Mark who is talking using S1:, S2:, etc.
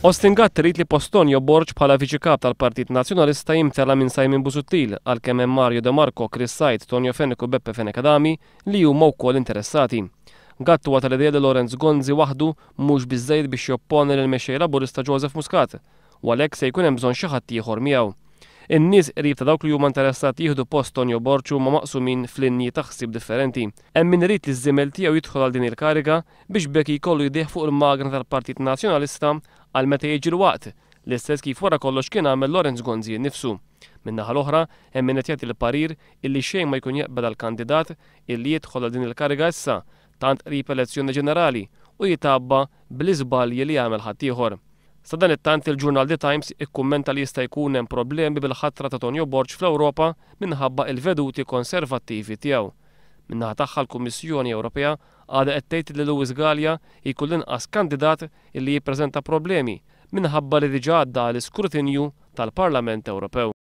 S1: Austin Gatt irid li post Tonio Borg bħala Viċi Kap tal-Partit Nazzjonalista jimtela minn Simon Busuttil għalkemm hemm Mario De Marco, Chris Said, Tonio Fenech u Beppe Fenech Adami li huma wkoll interessati. Gatt huwa tal-idea li Lawrence Gonzi waħdu mhux biżżejjed biex jopponi lill-Mexxej Laburista Joseph Muscat u għalhekk se jkun hemm bżonn xi ħadd ieħor miegħu. In-nies qrib ta' dawk li huma interessati jieħdu post Tonio Borg huma maqsumin f'linji ta' ħsieb differenti. Hemm min irid li ż-żiemel tiegħu jidħol għal din il-kariga biex b'hekk jkollu jdejh fuq il-magna tal-Partit Nazzjonalista għal meta jiġi l-waqt, l-istess kif wara kollox kien għamel Lawrence Gonzi nnifsu. Min-naħa l-oħra, hemm min qed jagħti l-parir illi xejn ma jkun jaqbel għal kandidat illi jidħol għal din il-kariga issa, tant qrib elezzjoni ġenerali, u jitgħabba bl-iżbalji li għamel ħaddieħor. Sadanittant il-ġurnal The Times ikkummenta li jista' jkun hemm problemi bil-ħatra ta' Tonio Borg fl-Ewropa minħabba il-veduti konservattivi tiegħu. Min-naħa tagħha l-Kummissjoni Ewropea għadha qed tgħid li Louis Galea jkun l-inqas kandidat illi jippreżenta problemi minħabba li diġà għadda għall-iskrutinju tal-Parlament Ewropew.